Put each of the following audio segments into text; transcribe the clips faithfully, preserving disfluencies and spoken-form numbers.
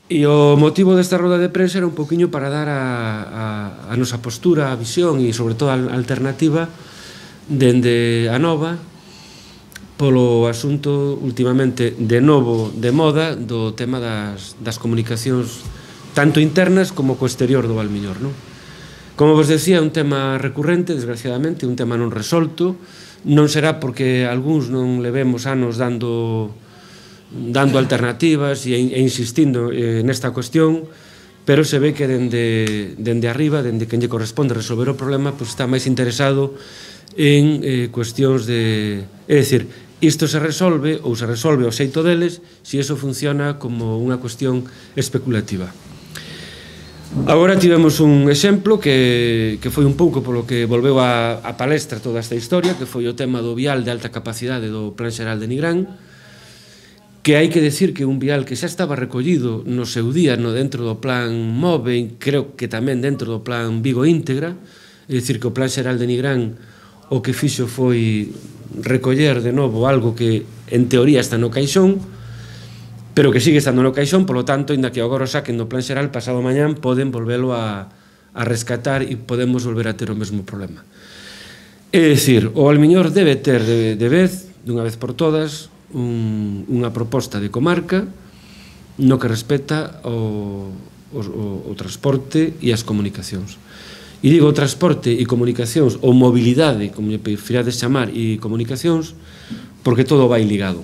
E o motivo desta roda de prensa era un poquinho para dar a, a, a nosa postura, a visión e, sobre todo, a alternativa dende a Nova polo asunto últimamente de novo de moda do tema das, das comunicacións tanto internas como co exterior do Valmiñor, non? Como vos decía, é un tema recurrente, desgraciadamente, un tema non resolto. Non será porque algúns non levemos anos dando dando alternativas e, e insistindo eh, nesta cuestión, pero se ve que dende, dende arriba, dende quen lle corresponde resolver o problema, pues está máis interesado en eh, cuestións de... É dicir, isto se resolve ou se resolve ao xeito deles se iso funciona como unha cuestión especulativa. Agora tivemos un exemplo que, que foi un pouco polo que volveu a, a palestra toda esta historia, que foi o tema do vial de alta capacidade do Plan Xeral de Nigrán, que hai que decir que un vial que xa estaba recollido no seu día no dentro do plan MOVE, creo que tamén dentro do plan Vigo Íntegra, é dicir que o Plan Xeral de Nigrán o que fixo foi recoller de novo algo que en teoría está no caixón, pero que sigue estando no caixón, polo tanto, inda que agora o saquen do Plan Xeral, pasado mañán poden volvelo a, a rescatar e podemos volver a ter o mesmo problema. É dicir, o Valmiñor debe ter de, de vez, dunha vez por todas, Un, unha proposta de comarca no que respecta o, o, o transporte e as comunicacións. E digo transporte e comunicacións, ou mobilidade, como lle prefirades chamar, e comunicacións, porque todo vai ligado.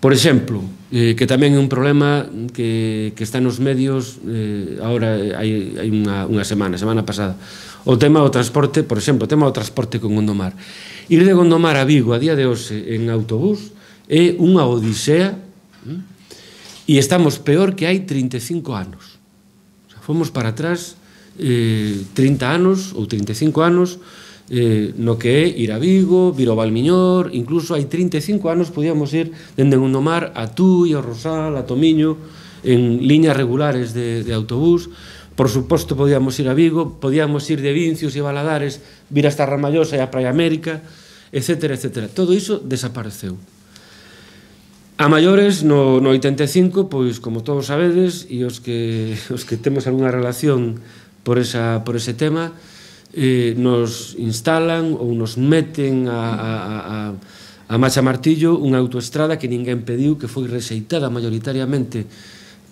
Por exemplo, eh, que tamén é un problema que, que está nos medios eh, agora hai, hai unha, unha semana, semana pasada, o tema do transporte, por exemplo, o tema do transporte con Gondomar. Ir de Gondomar a Vigo a día de hoxe en autobús é unha odisea e estamos peor que hai trinta e cinco anos. O sea, fomos para atrás eh, trinta anos ou trinta e cinco anos eh, no que é ir a Vigo, vir ao Valmiñor, incluso hai trinta e cinco anos podíamos ir dende Gondomar a Tui, a Rosal, a Tomiño, en liñas regulares de, de autobús. Por suposto, podíamos ir a Vigo, podíamos ir de Vincios e Valadares, vir hasta Ramallosa e a Praia América, etcétera, etcétera. Todo iso desapareceu. A maiores, no, no oitenta e cinco, pois, como todos sabedes, e os que, os que temos algunha relación por, esa, por ese tema, eh, nos instalan ou nos meten a, a, a, a macha martillo unha autoestrada que ninguén pediu, que foi rexeitada maioritariamente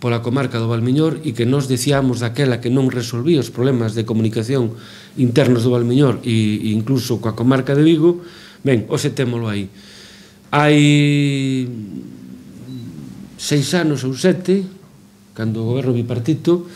pola comarca do Valmiñor e que nos dicíamos daquela que non resolvía os problemas de comunicación internos do Valmiñor e incluso coa comarca de Vigo. Ben, hoxe témolo aí. Hai seis anos ou sete, cando o goberno bipartito,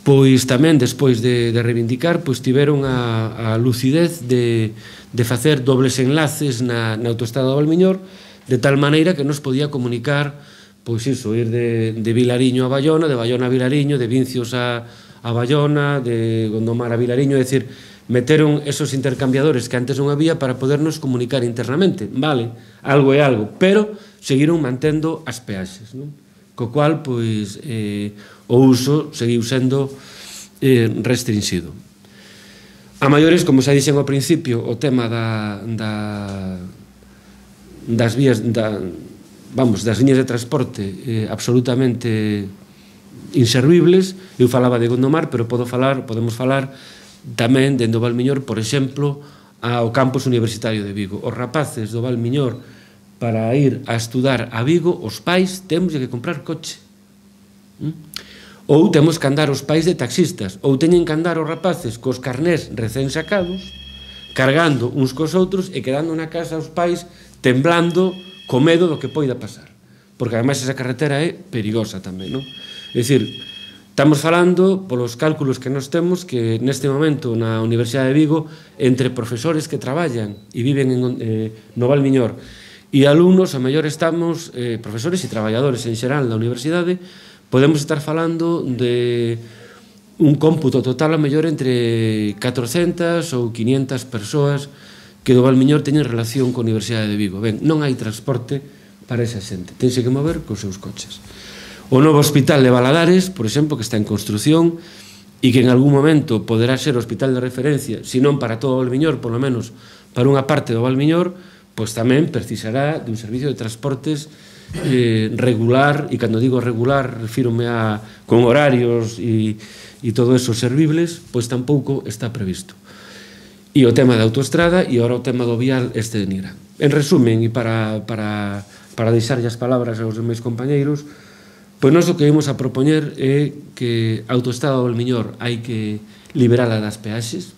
pois tamén despois de, de reivindicar, pois tiveron a, a lucidez de, de facer dobles enlaces na, na autoestrada do Valmiñor, de tal maneira que nos podía comunicar pois iso, ir de, de Vilariño a Bayona, de Bayona a Vilariño, de Vincios a, a Bayona, de Gondomar a Vilariño, é dicir, meteron esos intercambiadores que antes non había para podernos comunicar internamente. Vale, algo é algo, pero seguiron mantendo as peaxes, non? Co cual, pois, eh, o uso seguiu sendo eh, restringido. A maiores, como xa dixen ao principio, o tema da, da, das vías, da, vamos, das liñas de transporte eh, absolutamente inservibles. Eu falaba de Gondomar, pero podo falar, podemos falar tamén dende o Valmiñor, por exemplo, ao campus universitario de Vigo. Os rapaces do Valmiñor, para ir a estudar a Vigo, os pais temos que comprar coche. ¿Mm? Ou temos que andar os pais de taxistas, ou teñen que andar os rapaces cos carnés recén sacados, cargando uns cos outros e quedando na casa os pais temblando co medo do que poida pasar, porque ademais esa carretera é perigosa tamén, non? É dicir, estamos falando, polos cálculos que nos temos, que neste momento na Universidade de Vigo, entre profesores que traballan e viven en, eh, no Valmiñor e alumnos, a mellor estamos, eh, profesores e traballadores en xeral da universidade, podemos estar falando de un cómputo total a mellor entre catrocentas ou quinientas persoas que do Valmiñor teñen relación coa Universidade de Vigo. Ben, non hai transporte para esa xente, tense que mover cos seus coches. O novo hospital de Valadares, por exemplo, que está en construción e que en algún momento poderá ser o hospital de referencia, se non para todo o Valmiñor, polo menos para unha parte do Valmiñor, pois tamén precisará dun servicio de transportes eh, regular, e cando digo regular refírome a con horarios e, e todo eso servibles, pois tampouco está previsto. E o tema da autoestrada e ora o tema do vial este de Nigrán. En resumen, e para, para, para deixarlle as palabras aos meus compañeiros, pois nós o que ímos a propoñer é que a autoestrada do Valmiñor hai que liberala das peaxes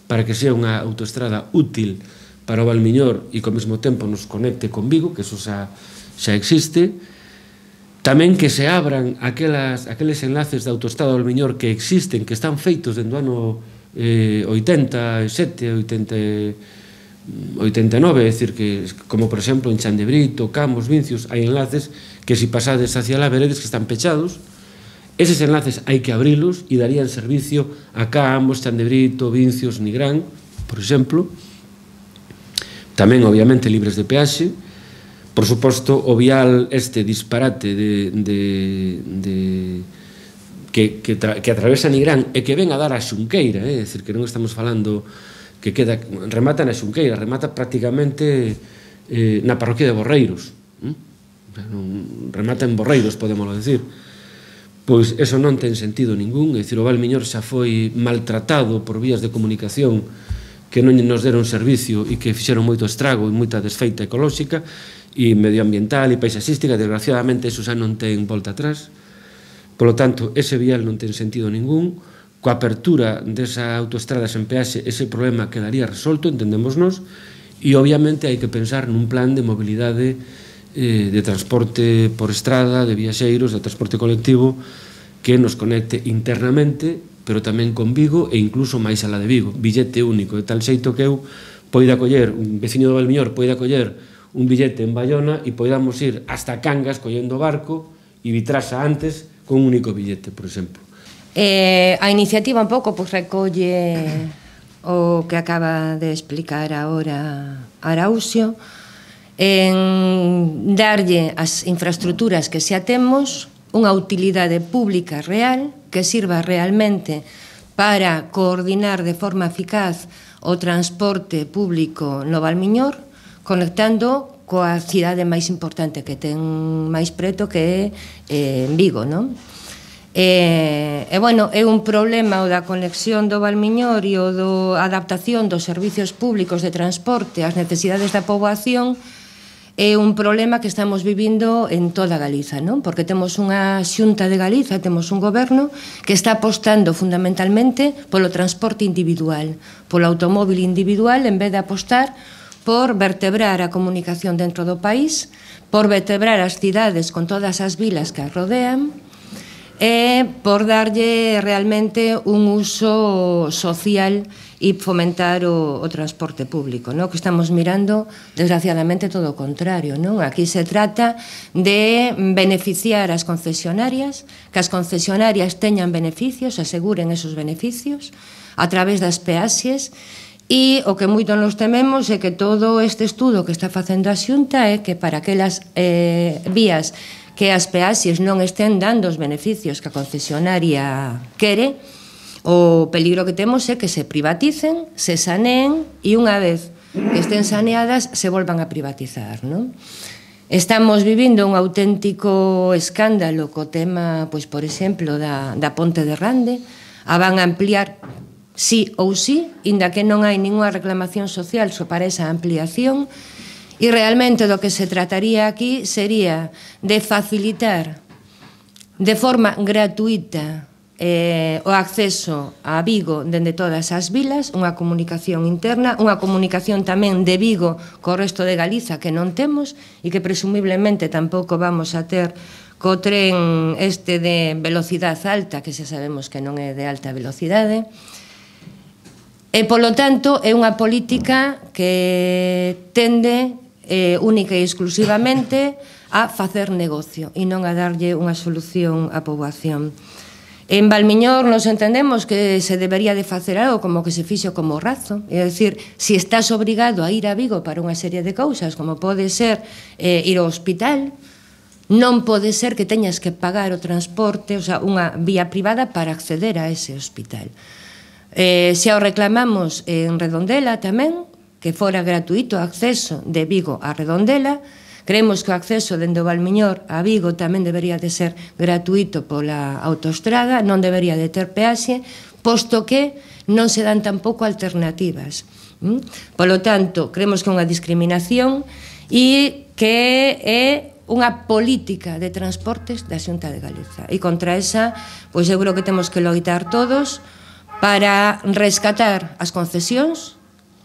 para que sea unha autoestrada útil para o Valmiñor e que ao mesmo tempo nos conecte con Vigo, que eso xa, xa existe. Tamén que se abran aquelas, aqueles enlaces de autoestrada do Valmiñor que existen, que están feitos dentro do ano eh, oitenta e sete, oitenta, oitenta e nove, é dicir, que, como por exemplo en Chan de Brito, Camos, Vincios, hai enlaces que se pasades hacia lá veredes que están pechados. Eses enlaces hai que abrilos e darían servicio a Camos, Chan de Brito, Vincios, Nigrán, por exemplo. Tamén, obviamente, libres de peaxe. Por suposto, o vial este disparate de, de, de, que, que, tra, que atravesa Nigrán e que ven a dar a Xunqueira, é eh? dicir, que non estamos falando que queda, remata na Xunqueira, remata prácticamente eh, na parroquia de Borreiros. ¿eh? Remata en Borreiros, podémoslo decir. Pois eso non ten sentido ningún, é dicir, o Valmiñor xa foi maltratado por vías de comunicación que non nos deron servicio e que fixeron moito estrago e moita desfeita ecolóxica e medioambiental e paisaxística. Desgraciadamente, eso xa non ten volta atrás. Por lo tanto, ese vial non ten sentido ningún. Coa apertura desa autoestrada sen peaxe, ese problema quedaría resolto, entendémonos, e obviamente hai que pensar nun plan de mobilidade eh, de transporte por estrada, de viaxeiros, de transporte colectivo, que nos conecte internamente, pero tamén con Vigo e incluso máis alá de Vigo, billete único, de tal xeito que eu poida coller, un veciño do Valmiñor poida coller un billete en Bayona e poidamos ir hasta Cangas collendo barco e Vitrasa antes con un único billete, por exemplo. Eh, a iniciativa un pouco pues, recolle o que acaba de explicar agora Araúxo, en darlle as infraestructuras que xa temos unha utilidade pública real que sirva realmente para coordinar de forma eficaz o transporte público no Valmiñor, conectando coa cidade máis importante que ten máis preto, que é eh, Vigo, non? E, e, bueno, é un problema o da conexión do Valmiñor e o da adaptación dos servicios públicos de transporte ás necesidades da poboación. É un problema que estamos vivindo en toda Galiza, non? Porque temos unha Xunta de Galiza, temos un goberno que está apostando fundamentalmente polo transporte individual, polo automóvil individual, en vez de apostar por vertebrar a comunicación dentro do país, por vertebrar as cidades con todas as vilas que as rodean, e por darlle realmente un uso social e fomentar o, o transporte público, non? Que estamos mirando, desgraciadamente, todo o contrario, non? Aquí se trata de beneficiar as concesionarias, que as concesionarias teñan beneficios, aseguren esos beneficios a través das peaxes, e o que moito nos tememos é que todo este estudo que está facendo a Xunta é que para aquelas eh, vías que as peaxes non estén dando os beneficios que a concesionaria quere, o peligro que temos é que se privaticen, se saneen e unha vez que estén saneadas se volvan a privatizar, non? Estamos vivindo un auténtico escándalo co tema, pois, por exemplo, da, da Ponte de Rande. A van a ampliar sí ou sí, inda que non hai ninguna reclamación social só para esa ampliación. E realmente do que se trataría aquí sería de facilitar de forma gratuita eh, o acceso a Vigo dende todas as vilas, unha comunicación interna, unha comunicación tamén de Vigo co resto de Galiza que non temos e que presumiblemente tampouco vamos a ter co tren este de velocidade alta, que xa sabemos que non é de alta velocidade. E, polo tanto, é unha política que tende eh, única e exclusivamente a facer negocio e non a darlle unha solución á poboación. En Valmiñor nos entendemos que se debería de facer algo como que se fixo como Razo, é dicir, se estás obrigado a ir a Vigo para unha serie de cousas, como pode ser eh, ir ao hospital, non pode ser que teñas que pagar o transporte, o sea, unha vía privada para acceder a ese hospital. Eh, xa o reclamamos en Redondela tamén, que fora gratuito o acceso de Vigo a Redondela, Creemos que o acceso dende o Valmiñor a Vigo tamén debería de ser gratuito pola autoestrada, non debería de ter peaxe, posto que non se dan tampouco alternativas. Polo tanto, creemos que é unha discriminación e que é unha política de transportes da Xunta de Galiza. E contra esa, pois eu creo que temos que loitar todos para rescatar as concesións,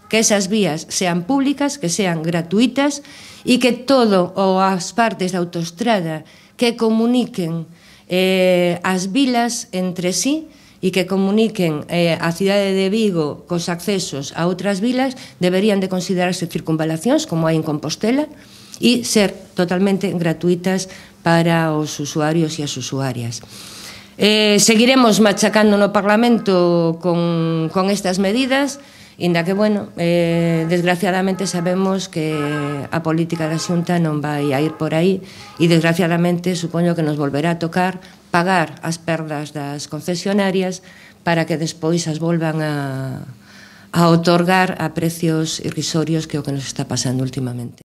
que esas vías sean públicas, que sean gratuitas e que todo ou as partes da autoestrada que comuniquen eh, as vilas entre sí e que comuniquen eh, a cidade de Vigo cos accesos a outras vilas deberían de considerarse circunvalacións como hai en Compostela e ser totalmente gratuitas para os usuarios e as usuarias. Eh, seguiremos machacando no Parlamento con, con estas medidas, inda que, bueno, eh, desgraciadamente sabemos que a política da Xunta non vai a ir por aí e, desgraciadamente, supoño que nos volverá a tocar pagar as perdas das concesionarias para que despois as volvan a, a otorgar a precios irrisorios, que é o que nos está pasando últimamente.